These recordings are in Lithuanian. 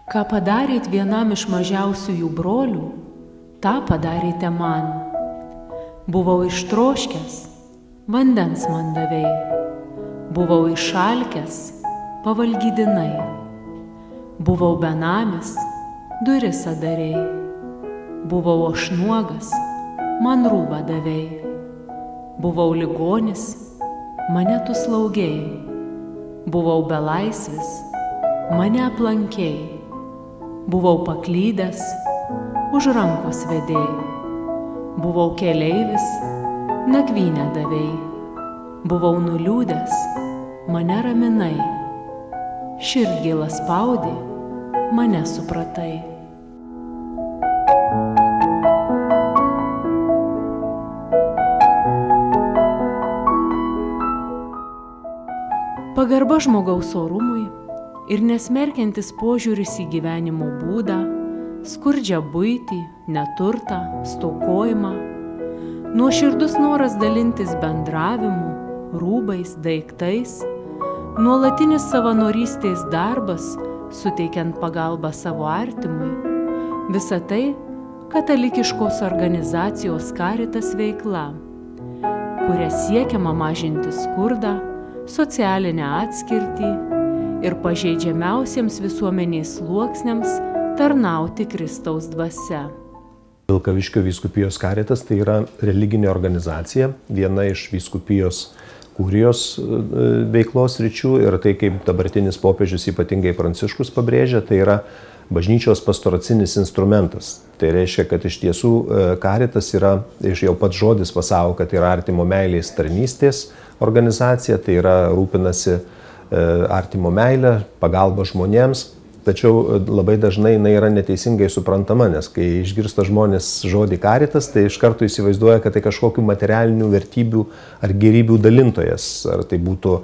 Ką padarėt vienam iš mažiausiųjų brolių, tą padarėte man. Buvau ištroškęs, vandens man davei. Buvau išalkęs, pavalgydinai. Buvau benamis, duris adarei. Buvau aš nuogas, man rūbą davei. Buvau ligonis, mane tu slaugei. Buvau belaisvis, mane aplankei. Buvau paklydęs, už rankos vedėjai. Buvau keleivis, nakvynę davei. Buvau nuliūdęs, mane raminai. Širdgėlą spaudė, mane supratai. Pagarba žmogaus orumui ir nesmerkiantis požiūris į gyvenimo būdą, skurdžią buitį, neturtą, stokojimą, nuoširdus noras dalintis bendravimu, rūbais, daiktais, nuolatinis savanorystės darbas, suteikiant pagalbą savo artimui, visa tai katalikiškos organizacijos Caritas veikla, kuria siekiama mažinti skurdą, socialinę atskirtį ir pažeidžiamiausiems visuomenės sluoksniams tarnauti Kristaus dvasia. Vilkaviškio vyskupijos Caritas tai yra religinė organizacija, viena iš vyskupijos kurijos veiklos sričių ir tai, kaip dabartinis popiežius ypatingai Pranciškus pabrėžia, tai yra bažnyčios pastoracinis instrumentas. Tai reiškia, kad iš tiesų Caritas yra, iš jau pats žodis pasako, kad yra artimo meilės tarnystės organizacija, tai yra rūpinasi artimo meilę, pagalba žmonėms, tačiau labai dažnai jinai yra neteisingai suprantama, nes kai išgirsta žmonės žodį Caritas, tai iš karto įsivaizduoja, kad tai kažkokių materialinių vertybių ar gėrybių dalintojas, ar tai būtų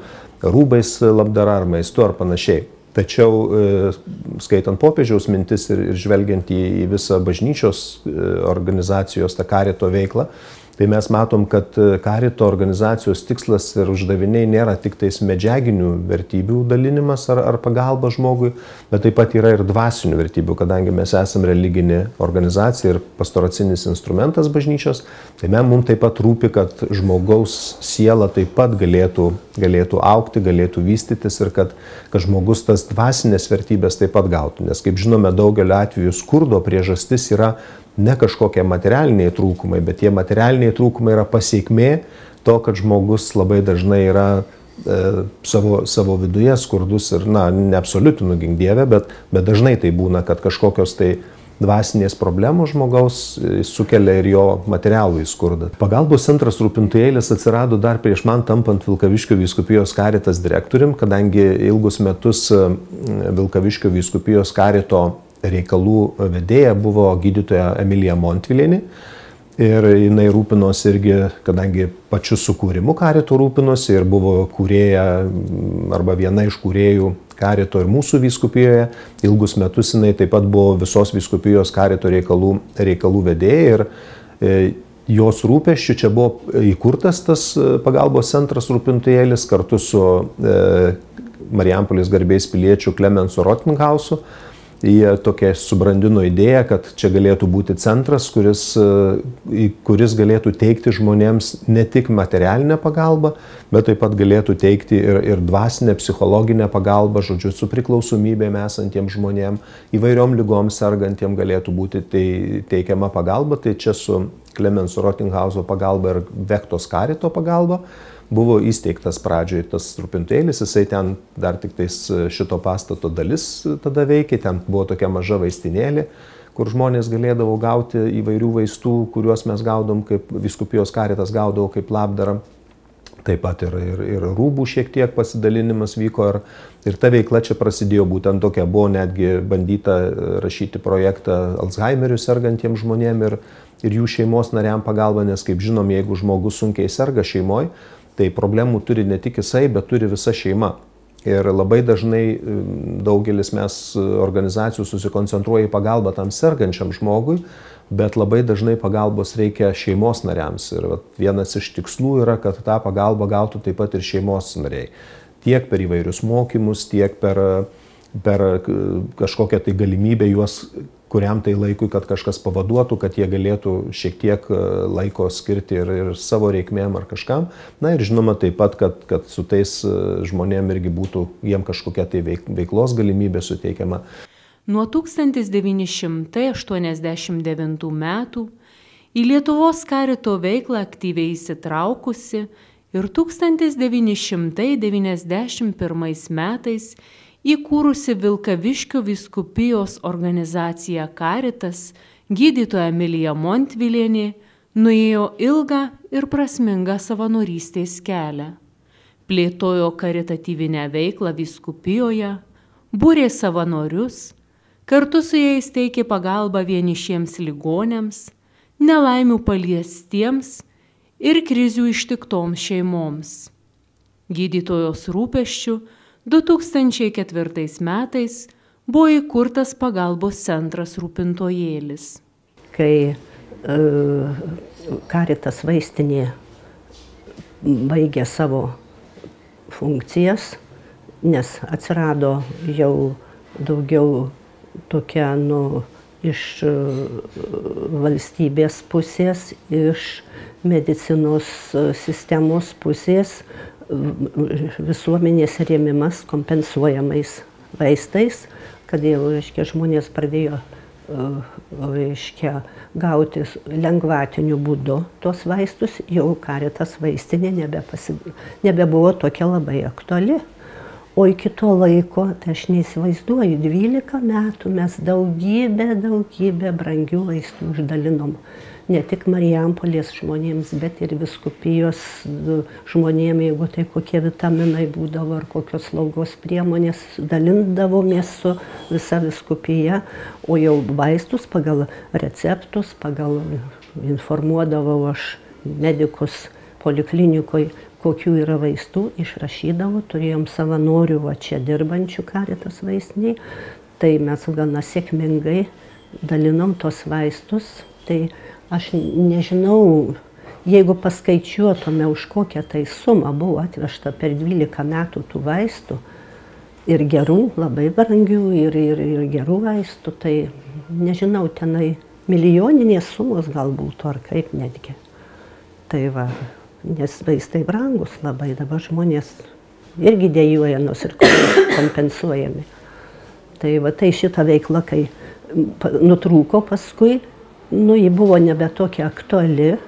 rūbais labdara, ar maistu, ar panašiai. Tačiau skaitant popiežiaus mintis ir žvelgiant į visą bažnyčios organizacijos tą Carito veiklą, tai mes matom, kad Carito organizacijos tikslas ir uždaviniai nėra tik tais medžiaginių vertybių dalinimas ar pagalba žmogui, bet taip pat yra ir dvasinių vertybių, kadangi mes esame religinė organizacija ir pastoracinis instrumentas bažnyčios, tai mums taip pat rūpi, kad žmogaus siela taip pat galėtų augti, galėtų vystytis ir kad žmogus tas dvasinės vertybės taip pat gautų. Nes kaip žinome, daugeliu atveju skurdo priežastis yra ne kažkokie materialiniai trūkumai, bet tie materialiniai trūkumai yra pasekmė to, kad žmogus labai dažnai yra savo viduje skurdus ir, neabsoliutinu gink Dieve, bet dažnai tai būna, kad kažkokios tai dvasinės problemos žmogaus sukelia ir jo materialų į skurdą. Pagalbos centras Rūpintojėlis atsirado dar prieš man tampant Vilkaviškio vyskupijos Caritas direktorium, kadangi ilgus metus Vilkaviškio vyskupijos Carito reikalų vedėja buvo gydytoja Emilija Montvilienė ir jinai rūpinosi irgi, kadangi pačiu sukūrimu Carito rūpinosi ir buvo kūrėja arba viena iš kūrėjų Carito ir mūsų vyskupijoje, ilgus metus jinai taip pat buvo visos vyskupijos Carito reikalų vedėja ir jos rūpesčiu čia buvo įkurtas tas pagalbos centras Rūpintojėlis kartu su Marijampolės garbės piliečiu Klemensu Rottinghausu. Jie tokia subrandino idėją, kad čia galėtų būti centras, kuris galėtų teikti žmonėms ne tik materialinę pagalbą, bet taip pat galėtų teikti ir dvasinę, psichologinę pagalbą, žodžiu, su priklausomybėm esantiems žmonėms, įvairiom lygom sergantiems galėtų būti teikiama pagalba. Tai čia su Klemenso Rottinghauso pagalba ir Vektos Carito pagalba buvo įsteigtas pradžioje tas Rūpintojėlis, jisai ten dar tik tais šito pastato dalis tada veikė, ten buvo tokia maža vaistinėlė, kur žmonės galėdavo gauti įvairių vaistų, kuriuos mes gaudom, kaip vyskupijos Caritas gaudavo kaip labdarą. Taip pat ir rūbų šiek tiek pasidalinimas vyko ir ta veikla čia prasidėjo būtent tokia, buvo netgi bandyta rašyti projektą Alzheimeriu sergantiems žmonėms ir jų šeimos nariam pagalba, nes kaip žinom, jeigu žmogus sunkiai serga šeimoje, tai problemų turi ne tik jisai, bet turi visa šeima. Ir labai dažnai daugelis mes organizacijų susikoncentruoja į pagalbą tam sergančiam žmogui, bet labai dažnai pagalbos reikia šeimos nariams. Ir vienas iš tikslų yra, kad tą pagalbą gautų taip pat ir šeimos nariai. Tiek per įvairius mokymus, tiek per per kažkokią tai galimybę juos kuriam tai laikui, kad kažkas pavaduotų, kad jie galėtų šiek tiek laiko skirti ir savo reikmėm ar kažkam. Na ir žinoma taip pat, kad su tais žmonėm irgi būtų jiem kažkokia tai veiklos galimybė suteikiama. Nuo 1989 metų į Lietuvos karito veiklą aktyviai įsitraukusi ir 1991 metais įkūrusi Vilkaviškio vyskupijos organizaciją Karitas, gydytoja Emilija Montvilienė nuėjo ilgą ir prasmingą savanorystės kelią. Plėtojo karitatyvinę veiklą vyskupijoje, būrė savanorius, kartu su jais teikė pagalbą vienišiems ligoniams, nelaimių paliestiems ir krizių ištiktoms šeimoms. Gydytojos rūpesčių 2004 metais buvo įkurtas pagalbos centras Rūpintojėlis. Kai Karitas vaistinė baigė savo funkcijas, nes atsirado jau daugiau tokia iš valstybės pusės, iš medicinos sistemos pusės, visuomenės rėmimas kompensuojamais vaistais, kad jau žmonės pradėjo gauti lengvatiniu būdu tuos vaistus, jau Karitas vaistinė nebebuvo tokia labai aktuali. O iki to laiko, tai aš neįsivaizduoju, 12 metų mes daugybę brangių vaistų išdalinom. Ne tik Marijampolės žmonėms, bet ir vyskupijos žmonėms, jeigu tai kokie vitaminai būdavo ar kokios slaugos priemonės, dalindavomės su visa vyskupija, o jau vaistus pagal receptus, informuodavau aš medikus poliklinikoje, kokių yra vaistų, išrašydavau, turėjom savanorių čia dirbančių Karitas vaistiniai, tai mes gana sėkmingai dalinom tos vaistus. Tai aš nežinau, jeigu paskaičiuotume, už kokią tai sumą buvo atvežta per 12 metų tų vaistų, ir gerų, labai brangių, ir gerų vaistų, tai nežinau, tenai milijoninės sumos gal būtų, ar kaip netgi. Tai va, nes vaistai brangus labai, dabar žmonės irgi dejuoja, nors ir kompensuojami. Tai va, tai šita veikla, kai nutrūko paskui, ji buvo nebe tokia aktuali,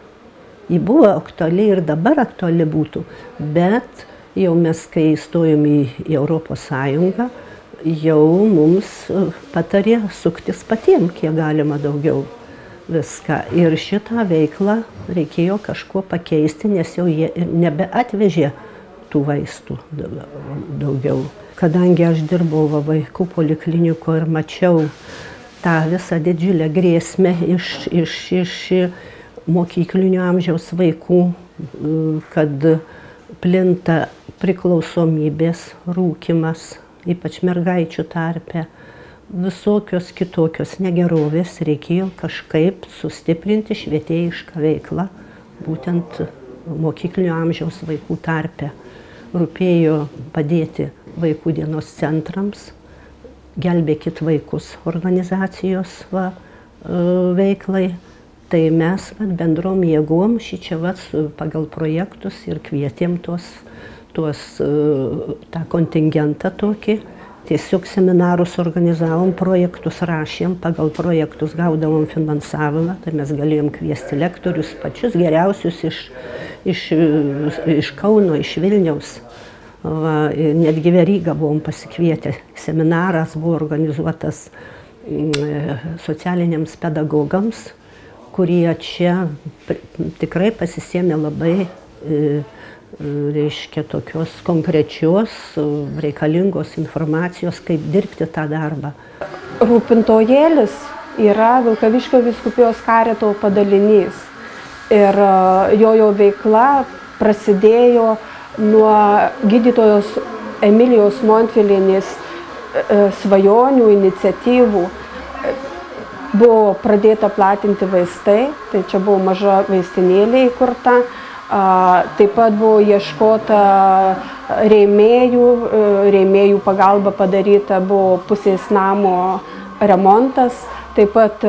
ji buvo aktuali ir dabar aktuali būtų, bet jau mes, kai įstojom į Europos Sąjungą, jau mums patarė suktis patiem, kiek galima daugiau viską. Ir šitą veiklą reikėjo kažkuo pakeisti, nes jau jie nebeatvežė tų vaistų daugiau. Kadangi aš dirbau vaikų poliklinikoje ir mačiau tą visą didžiulę grėsmę iš mokyklinio amžiaus vaikų, kad plinta priklausomybės, rūkymas, ypač mergaičių tarpe, visokios kitokios negerovės, reikėjo kažkaip sustiprinti švietėjišką veiklą, būtent mokyklinio amžiaus vaikų tarpe. Rūpėjo padėti vaikų dienos centrams, gelbėkit vaikus organizacijos veiklai. Tai mes bendrom jėgom šičia pagal projektus ir kvietėm tą kontingentą tokį. Tiesiog seminarus organizavom, projektus rašėm, pagal projektus gaudavom finansavimą, tai mes galėjom kviesti lektorius, pačius geriausius iš Kauno, iš Vilniaus. Netgi Verygą buvom pasikvietę. Seminaras buvo organizuotas socialiniams pedagogams, kurie čia tikrai pasisėmė labai tokios konkrečios, reikalingos informacijos, kaip dirbti tą darbą. Rūpintojėlis yra Vilkaviškio vyskupijos karito padalinys ir jo veikla prasidėjo nuo gydytojos Emilijos Montvilienės svajonių, iniciatyvų. Buvo pradėta platinti vaistai, tai čia buvo maža vaistinėlė įkurta, Taip pat buvo ieškota rėmėjų pagalba padaryta buvo pusės namo remontas, taip pat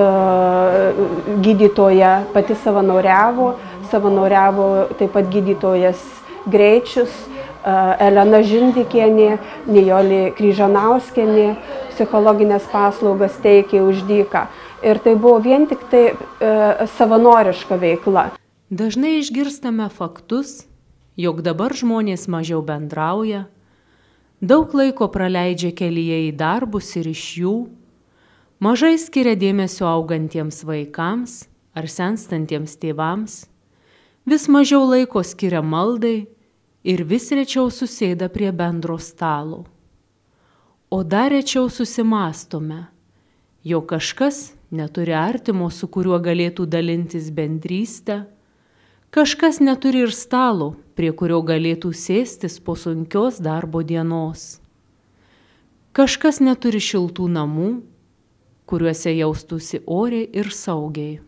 gydytoja pati savanoriavo taip pat gydytojas Greičius, Elena Žindikienė, Nijolė Kryžanauskienė, psichologinės paslaugas teikė už dyką. Ir tai buvo vien tik tai savanoriška veikla. Dažnai išgirstame faktus, jog dabar žmonės mažiau bendrauja, daug laiko praleidžia kelyje į darbus ir iš jų, mažai skiria dėmesio augantiems vaikams ar senstantiems tėvams, vis mažiau laiko skiria maldai ir vis rečiau susėda prie bendro stalo. O dar rečiau susimąstome, jog kažkas neturi artimo, su kuriuo galėtų dalintis bendrystę, kažkas neturi ir stalo, prie kurio galėtų sėstis po sunkios darbo dienos. Kažkas neturi šiltų namų, kuriuose jaustųsi oriai ir saugiai.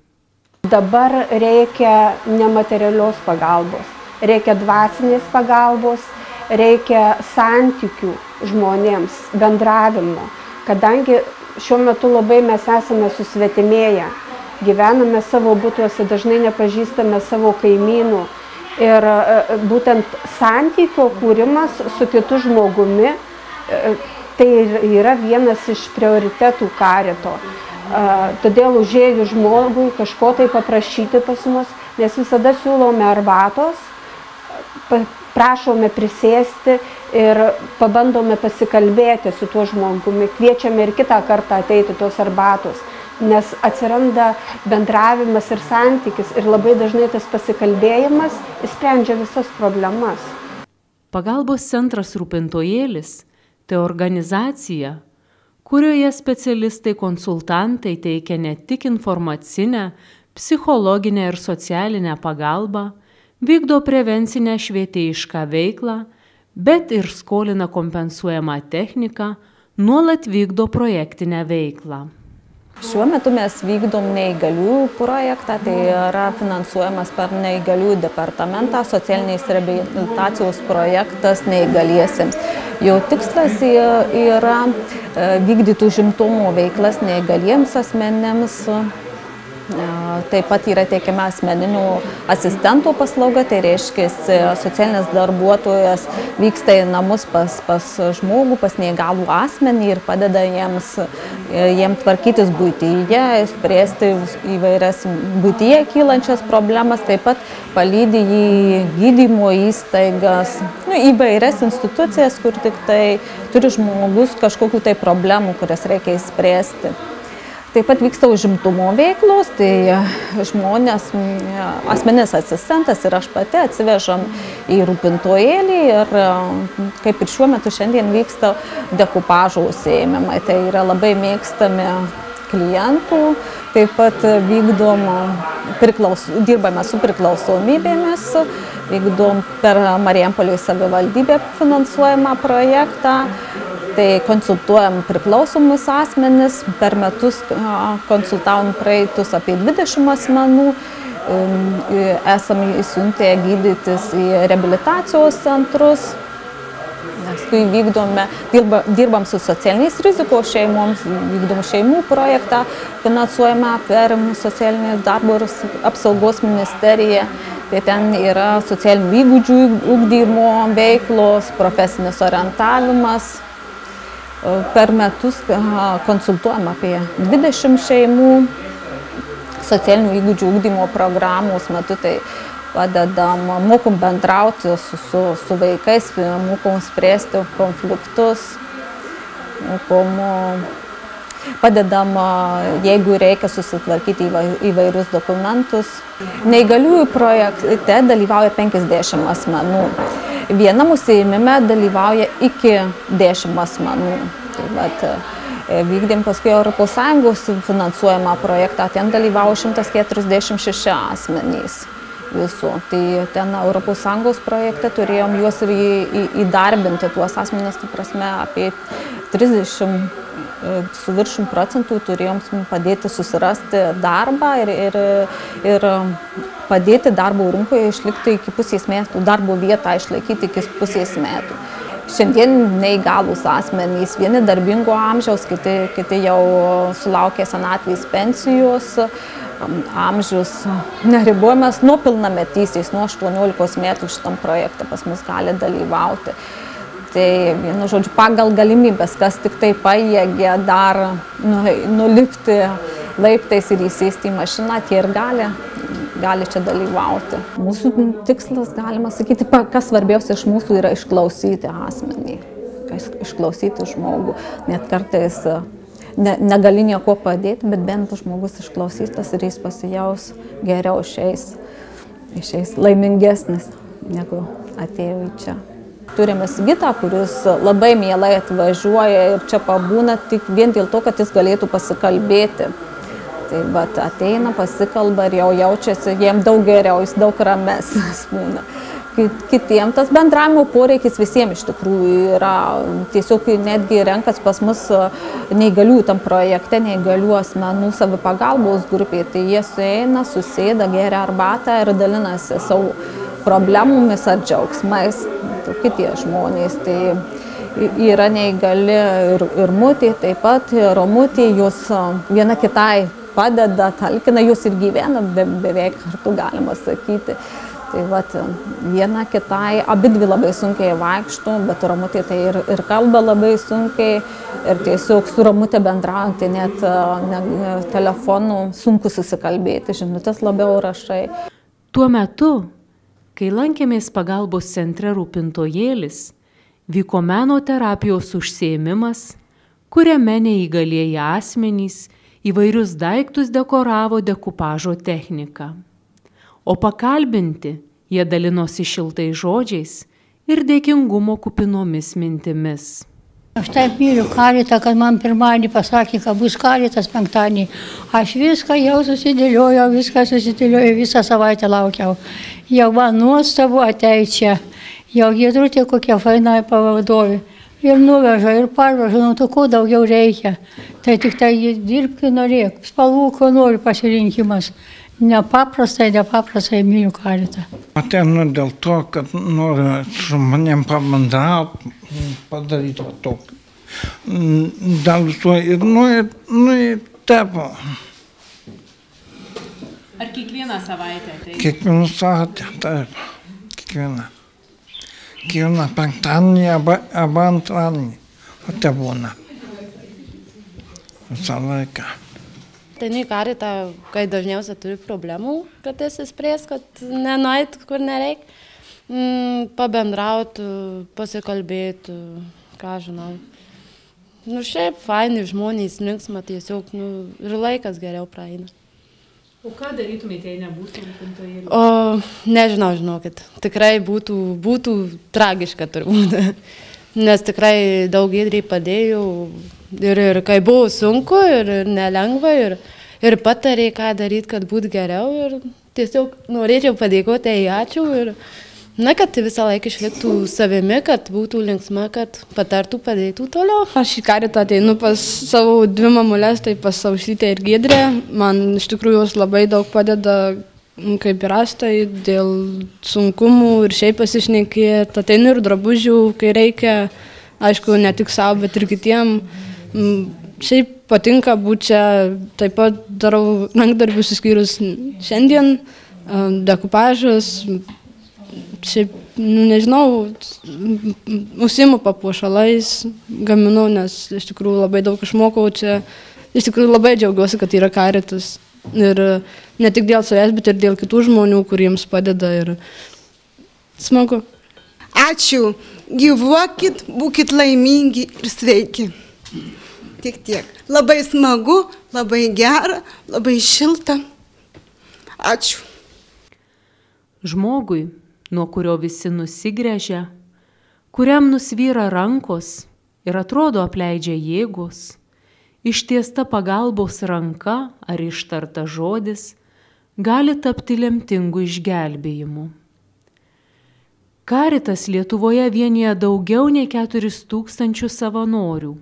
Dabar reikia nematerialios pagalbos, reikia dvasinės pagalbos, reikia santykių žmonėms, bendravimo, kadangi šiuo metu labai mes esame susvetimėję, gyvename savo butuose, dažnai nepažįstame savo kaimynų ir būtent santykio kūrimas su kitu žmogumi, tai yra vienas iš prioritetų karito. Todėl užėjus žmogui kažko tai paprašyti pas mus, nes visada siūlome arbatos, prašome prisėsti ir pabandome pasikalbėti su tuo žmogumi, kviečiame ir kitą kartą ateiti tos arbatos, nes atsiranda bendravimas ir santykis ir labai dažnai tas pasikalbėjimas išsprendžia visas problemas. Pagalbos centras Rūpintojėlis – tai organizacija, kurioje specialistai konsultantai teikia ne tik informacinę, psichologinę ir socialinę pagalbą, vykdo prevencinę švietėjišką veiklą, bet ir skolina kompensuojamą techniką, nuolat vykdo projektinę veiklą. Šiuo metu mes vykdom neįgaliųjų projektą, tai yra finansuojamas per neįgaliųjų departamentą, socialinės reabilitacijos projektas neįgaliesiems. Jo tikslas yra vykdyti užimtumo veiklas neįgaliems asmenėms. Taip pat yra teikiama asmeninių asistentų paslauga, tai reiškia socialinis darbuotojas vyksta į namus pas žmogų, pas neįgalų asmenį ir padeda jiems tvarkytis buityje, spręsti įvairias buityje kylančias problemas, taip pat palydi į gydymo įstaigas, įvairias institucijas, kur tik tai turi žmogus kažkokių tai problemų, kurias reikia įspręsti. Taip pat vyksta užimtumo veiklos, tai žmonės, asmeninis asistentas ir aš pati atsivežam į Rūpintojėlį ir kaip ir šiuo metu šiandien vyksta dekupažo užsiėmimai. Tai yra labai mėgstami klientų, taip pat dirbame su priklausomybėmis, vykdom per Marijampolės savivaldybę finansuojamą projektą. Tai konsultuojam priklausomus asmenis, per metus konsultavom praeitus apie 20 asmenų, esame įsiuntę gydytis į reabilitacijos centrus, paskui dirbam su socialiniais rizikos šeimoms, vykdom šeimų projektą, finansuojame per socialinės darbo ir apsaugos ministeriją. Tai ten yra socialinių įgūdžių ugdymo veiklos, profesinis orientavimas. Per metus konsultuojam apie 20 šeimų, socialinių įgūdžių ugdymo programos metu, tai padedam, mokom bendrauti su vaikais, mokom spręsti konfliktus, padedam, jeigu reikia susitvarkyti įvairius dokumentus. Neįgaliųjų projekte dalyvauja 50 asmenų. Vienam užsiėmime dalyvauja iki 10 asmenų. Vykdėm paskui ES finansuojamą projektą, ten dalyvavo 146 asmenys visų. Tai ten ES projekte turėjom juos ir įdarbinti, tuos asmenys, tai prasme, apie 30 su viršum procentų turėjom padėti susirasti darbą ir padėti darbo rinkoje išlikti iki pusės metų, darbo vietą išlaikyti iki pusės metų. Šiandien neįgalūs asmenys, vieni darbingo amžiaus, kiti jau sulaukė senatvės pensijos, amžius neribojamas nuo pilnametystės, nuo 18 metų šitam projekte pas mus gali dalyvauti. Tai, vienu žodžiu, pagal galimybės, kas tik tai pajėgia dar nulipti laiptais ir įsėsti į mašiną, tie ir gali čia dalyvauti. Mūsų tikslas, galima sakyti, kas svarbiausia iš mūsų yra išklausyti asmenį, išklausyti žmogų. Net kartais negali nieko padėti, bet bent žmogus išklausytas ir jis pasijaus geriau išeis laimingesnis, negu atėjo į čia. Turime Sigitą, kuris labai mielai atvažiuoja ir čia pabūna tik vien dėl to, kad jis galėtų pasikalbėti. Tai bet ateina, pasikalba ir jau jaučiasi jiem daug geriau, jis daug ramesnis būna. Kitiems tas bendravimo poreikis visiems iš tikrųjų yra, tiesiog netgi renkas pas mus neįgalių tam projekte, neįgalių asmenų savipagalbos grupė, tai jie sueina, susėda, geria arbatą ir dalinasi savo problemomis ar džiaugsmais, kitie žmonės. Tai yra neįgali ir Mutė, taip pat Romutė, jos viena kitai padeda, talkina, jos ir gyvena beveik kartu, galima sakyti. Tai vat, viena kitai, abidvi labai sunkiai vaikšto, bet Romutė tai ir kalba labai sunkiai ir tiesiog su Romutė bendraujant, tai net telefonu sunku susikalbėti, žinutės labiau rašai. Tuo metu, kai lankėmės pagalbos centre Rūpintojėlis, vyko meno terapijos užsiėmimas, kuriame neįgalieji asmenys įvairius daiktus dekoravo dekupažo technika. O pakalbinti jie dalinosi šiltais žodžiais ir dėkingumo kupinomis mintimis. Aš taip myliu karitą, kad man pirmadienį pasakė, kad bus karitas penktadienį. Aš viską jau susidėliojau, visą savaitę laukiau. Jau man nuostabu ateit čia. Jau Giedrutė kokia faina pavadovė. Ir nuveža, ir parveža, nu to ko daugiau reikia. Tai tik tai dirbti norėk, spalvų, ko nori pasirinkimas. Nepaprastai myliu karitą. Ateinu dėl to, kad noriu su manim pabendrauti, padaryti tokį. Dėl to ir tepo. Ar kiekvieną savaitę tai? Kiekvieną savaitę, taip. Kiekvieną penktadienį arba antradienį. O te būna. Visą laiką. Ateinu į karitą, kai dažniausiai turi problemų, kad įsispręs, kad nenueit, kur nereik. Pabendrauti, pasikalbėti, ką žinau. Nu šiaip faini žmonės, linksma tiesiog, ir laikas geriau praeina. O ką darytumėte, jei nebūtų Rūpintojėlių? Nežinau, žinokit. Tikrai būtų tragiška turbūt. Nes tikrai daug Giedrei padėjau ir kai buvo sunku ir nelengva ir patarė, ką daryti, kad būtų geriau ir tiesiog norėčiau padėkoti ačiū ir kad visą laiką išliktų savimi, kad būtų linksma, kad patartų, padėtų toliau. Aš į karitą ateinu pas savo dvi mamulės, tai pas Aušrytę ir Giedrę. Man iš tikrųjų jos labai daug padeda, kaip ir Astai, dėl sunkumų ir šiaip pasišnekėti. Ateinu ir drabužių, kai reikia, aišku, ne tik savo, bet ir kitiem. Šiaip patinka būti čia, taip pat darau rankdarbius išskyrus šiandien, dekupažas, šiaip, nežinau, užsiimu papuošalais, gaminu, nes iš tikrųjų labai daug išmokau čia. Iš tikrųjų labai džiaugiuosi, kad yra karitas. Ir ne tik dėl savęs, bet ir dėl kitų žmonių, kuriems padeda ir smagu. Ačiū, gyvuokit, būkit laimingi ir sveiki. Tik tiek. Labai smagu, labai gera, labai šilta. Ačiū. Žmogui, nuo kurio visi nusigręžia, kuriam nusvyra rankos ir atrodo apleidžia jėgos, ištiesta pagalbos ranka ar ištarta žodis gali tapti lemtingu išgelbėjimu. Karitas Lietuvoje vienija daugiau nei 4000 savanorių,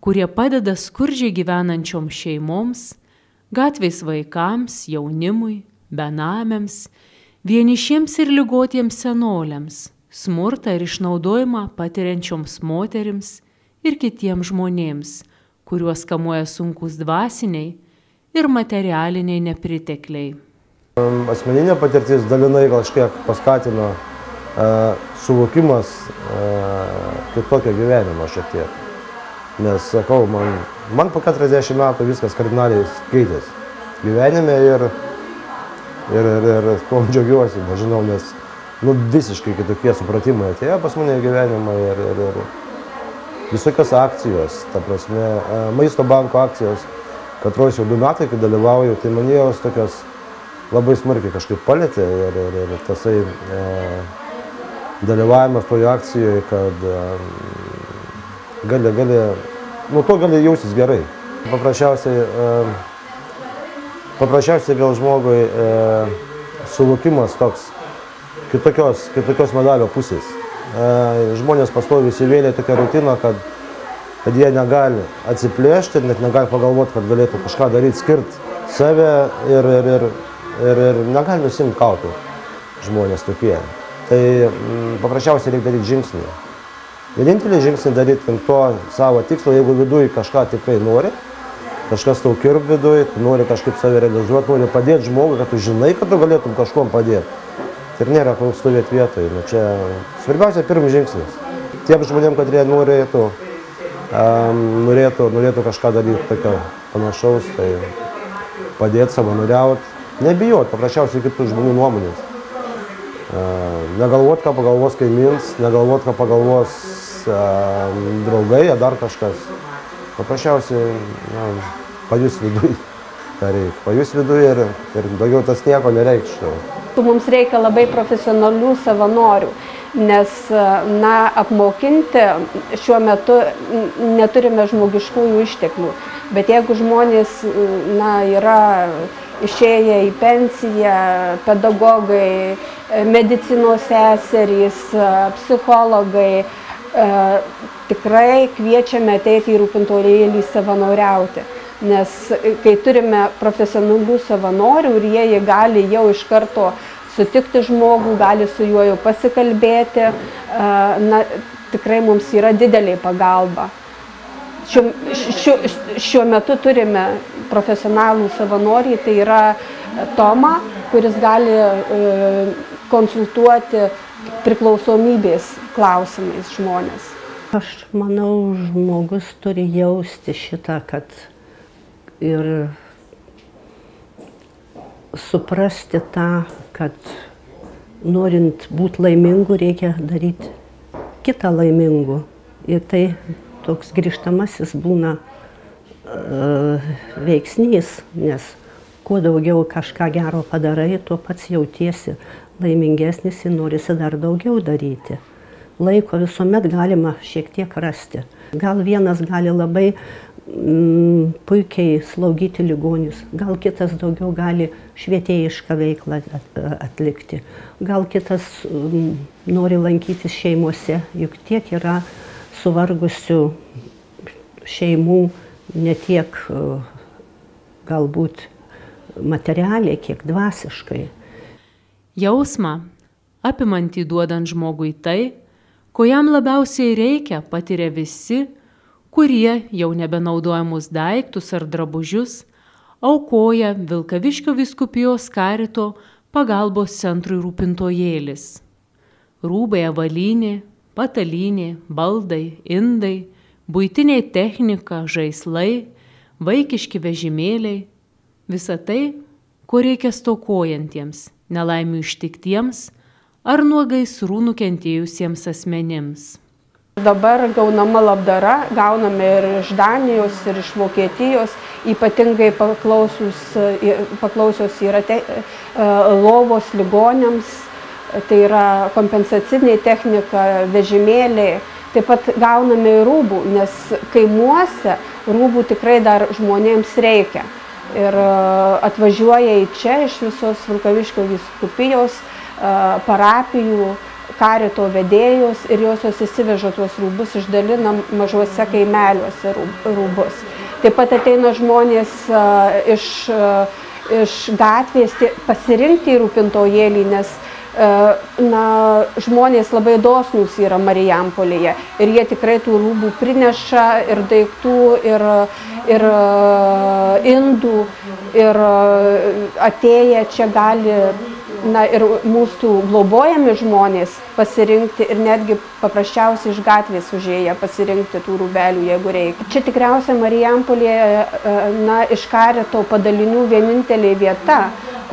kurie padeda skurdžiai gyvenančioms šeimoms, gatvės vaikams, jaunimui, benamiams, vienišiems ir ligotiems senoliams, smurtą ir išnaudojimą patiriančioms moterims ir kitiems žmonėms, kuriuos kamuoja sunkus dvasiniai ir materialiniai nepritekliai. Asmeninė patirtis dalinai kažkiek paskatino suvokimas kitokio gyvenimo šiek tiek. Nes, sakau, man po 40 metų viskas kardinaliai keitėsi gyvenime ir tuom džiaugiuosi, nežinau, nes visiškai kitokie supratimai atėjo pas mane į gyvenimą ir visokios akcijos, ta prasme, Maisto banko akcijos, katros jau 2 metai, kai dalyvauju, tai mane jos tokios labai smarkiai kažkaip palėtė ir tasai dalyvavimas toje akcijoje, kad nuo to gali jausis gerai. Paprasčiausiai gal žmogui suvokimas toks kitokios medalio pusės. Žmonės pastoviai įsivėlė tokią rutiną, kad jie negali atsiplėšti, net negali pagalvoti, kad galėtų kažką daryti, skirti save ir negali nusimti kaukių žmonės tokie. Tai paprasčiausiai reikia daryti žingsnį. Vienintelį žingsnį daryti link to savo tikslo, jeigu viduje kažką tikrai nori, kažkas tau kirb viduje, tu nori kažkaip save realizuoti, nori padėti žmogui, kad tu žinai, kad tu galėtum kažkuom padėti. Ir nėra kol stovėti vietoje. Čia svarbiausia pirmas žingsnis. Tiem žmonėm, kad jie norėtų kažką daryti tokio panašaus, tai padėti, savanoriauti, nebijoti paprasčiausiai kitų žmonių nuomonės. Negalvoti, ką pagalvos kaimyns, negalvoti, ką pagalvos draugai, ar dar kažkas. Paprasčiausiai pajus viduje, ką reikia. Pajus viduje ir daugiau tas nieko nereikštų. Mums reikia labai profesionalių savanorių, nes apmokinti šiuo metu neturime žmogiškųjų išteklių. Bet jeigu žmonės yra išėję į pensiją, pedagogai, medicinos seserys, psichologai, tikrai kviečiame ateiti į rūpintojėlį savanoriauti. Nes kai turime profesionalių savanorių ir jie gali jau iš karto sutikti žmogų, gali su juo jau pasikalbėti, tikrai mums yra didelė pagalba. Šiuo metu turime profesionalų savanoriai, tai yra Toma, kuris gali konsultuoti priklausomybės klausimais žmonės. Aš manau, žmogus turi jausti šitą, kad ir suprasti tą, kad norint būti laimingu, reikia daryti kitą laimingu. Ir tai toks grįžtamasis būna veiksnys, nes kuo daugiau kažką gero padarai, tuo pats jautiesi laimingesnis ir norisi dar daugiau daryti. Laiko visuomet galima šiek tiek rasti. Gal vienas gali labai puikiai slaugyti ligonius, gal kitas daugiau gali švietėjišką veiklą atlikti, gal kitas nori lankytis šeimose, juk tiek yra suvargusių šeimų, ne tiek galbūt materialiai, kiek dvasiškai. Jausmą, apimantį duodant žmogui tai, ko jam labiausiai reikia, patiria visi, kurie jau nebenaudojamus daiktus ar drabužius aukoja Vilkaviškio vyskupijos karito pagalbos centrui Rūpintojėlis. Rūbai, avalynė, patalynė, baldai, indai, buitiniai technika, žaislai, vaikiški vežimėliai – visa tai, ko reikia stokojantiems, nelaimių ištiktiems ar nuo gaisrų nukentėjusiems asmenims. Dabar gaunama labdara, gauname ir iš Danijos, ir iš Vokietijos, ypatingai paklausios yra lovos ligoniams, tai yra kompensacinė technika, vežimėliai. Taip pat gauname ir rūbų, nes kaimuose rūbų tikrai dar žmonėms reikia. Ir atvažiuoja į čia iš visos Vilkaviškio vyskupijos, parapijų, karito vedėjos ir josios įsiveža tuos rūbus, išdalina mažuose kaimeliuose rūbus. Taip pat ateina žmonės iš gatvės pasirinkti rūpintojėlį, nes žmonės labai dosnūs yra Marijampolėje ir jie tikrai tų rūbų prineša ir daiktų, ir indų, ir atėję čia gali ir mūsų globojami žmonės pasirinkti ir netgi paprasčiausiai iš gatvės užėję pasirinkti tų rūbelių, jeigu reikia. Čia tikriausiai Marijampolėje iš Karito padalinių vienintelė vieta,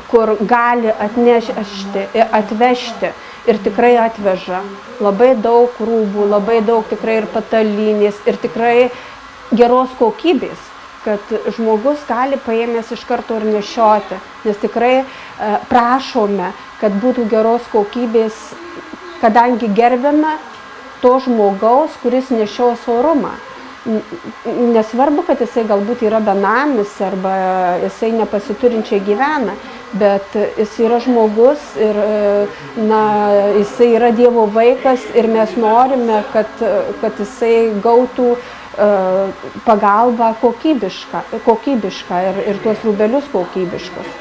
kur gali atvežti ir tikrai atveža labai daug rūbų, labai daug tikrai ir patalynės, ir tikrai geros kokybės, kad žmogus gali paėmęs iš karto ir nešioti, nes tikrai prašome, kad būtų geros kokybės, kadangi gerbėme to žmogaus, kuris nešios orumą. Nesvarbu, kad jisai galbūt yra benamis arba jisai nepasiturinčiai gyvena, bet jis yra žmogus ir jisai yra Dievo vaikas ir mes norime, kad jisai gautų pagalbą kokybišką ir tuos rūbelius kokybiškus.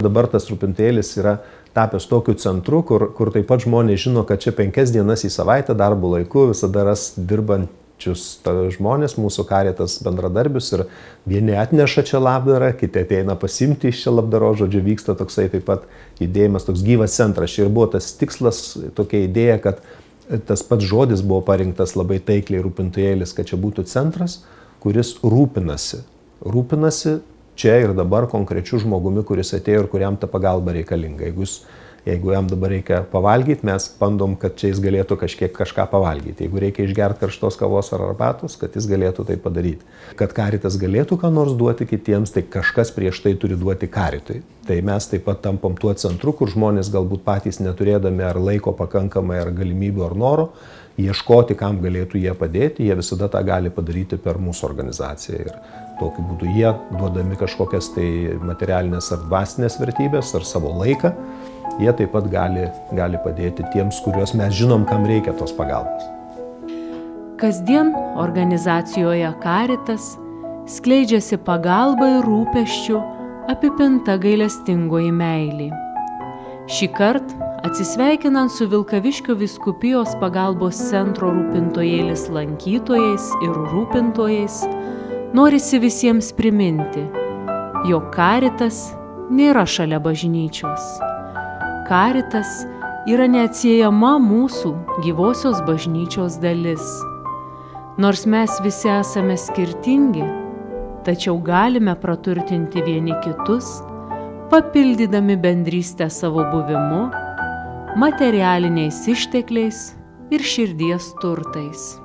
Dabar tas rūpintėlis yra tapęs tokiu centru, kur taip pat žmonės žino, kad čia 5 dienas į savaitę darbo laiku visada ras dirbančius žmonės, mūsų Karitas bendradarbius, ir vieni atneša čia labdarą, kiti ateina pasimti iš čia labdaro, žodžiu, vyksta toksai taip pat judėjimas, toks gyvas centras. Čia ir buvo tas tikslas, tokia idėja, kad tas pats žodis buvo parinktas labai taikliai rūpintojėlis, kad čia būtų centras, kuris rūpinasi čia ir dabar konkrečiu žmogumi, kuris atėjo ir kuriam ta pagalba reikalinga. Jeigu jam dabar reikia pavalgyti, mes bandom, kad čia jis galėtų kažką pavalgyti. Jeigu reikia išgerti karštos kavos ar arbatos, kad jis galėtų tai padaryti. Kad Karitas galėtų ką nors duoti kitiems, tai kažkas prieš tai turi duoti Karitui. Tai mes taip pat tampam tuo centru, kur žmonės galbūt patys neturėdami ar laiko pakankamai, ar galimybių, ar noro, ieškoti, kam galėtų jie padėti, jie visada tą gali padaryti per mūsų organizaciją. Ir tokiu būdu jie, duodami kažkokias tai materialinės ar dvasinės vertybės, ar savo laiką, jie taip pat gali padėti tiems, kuriuos mes žinom, kam reikia tos pagalbos. Kasdien organizacijoje Karitas skleidžiasi pagalba ir rūpesčiu apipinta gailestingoji meilė. Šįkart, atsisveikinant su Vilkaviškio vyskupijos pagalbos centro rūpintojėlis lankytojais ir rūpintojais, norisi visiems priminti, jog Karitas nėra šalia bažnyčios. Karitas yra neatsiejama mūsų gyvosios bažnyčios dalis. Nors mes visi esame skirtingi, tačiau galime praturtinti vieni kitus, papildydami bendrystę savo buvimu, materialiniais ištekliais ir širdies turtais.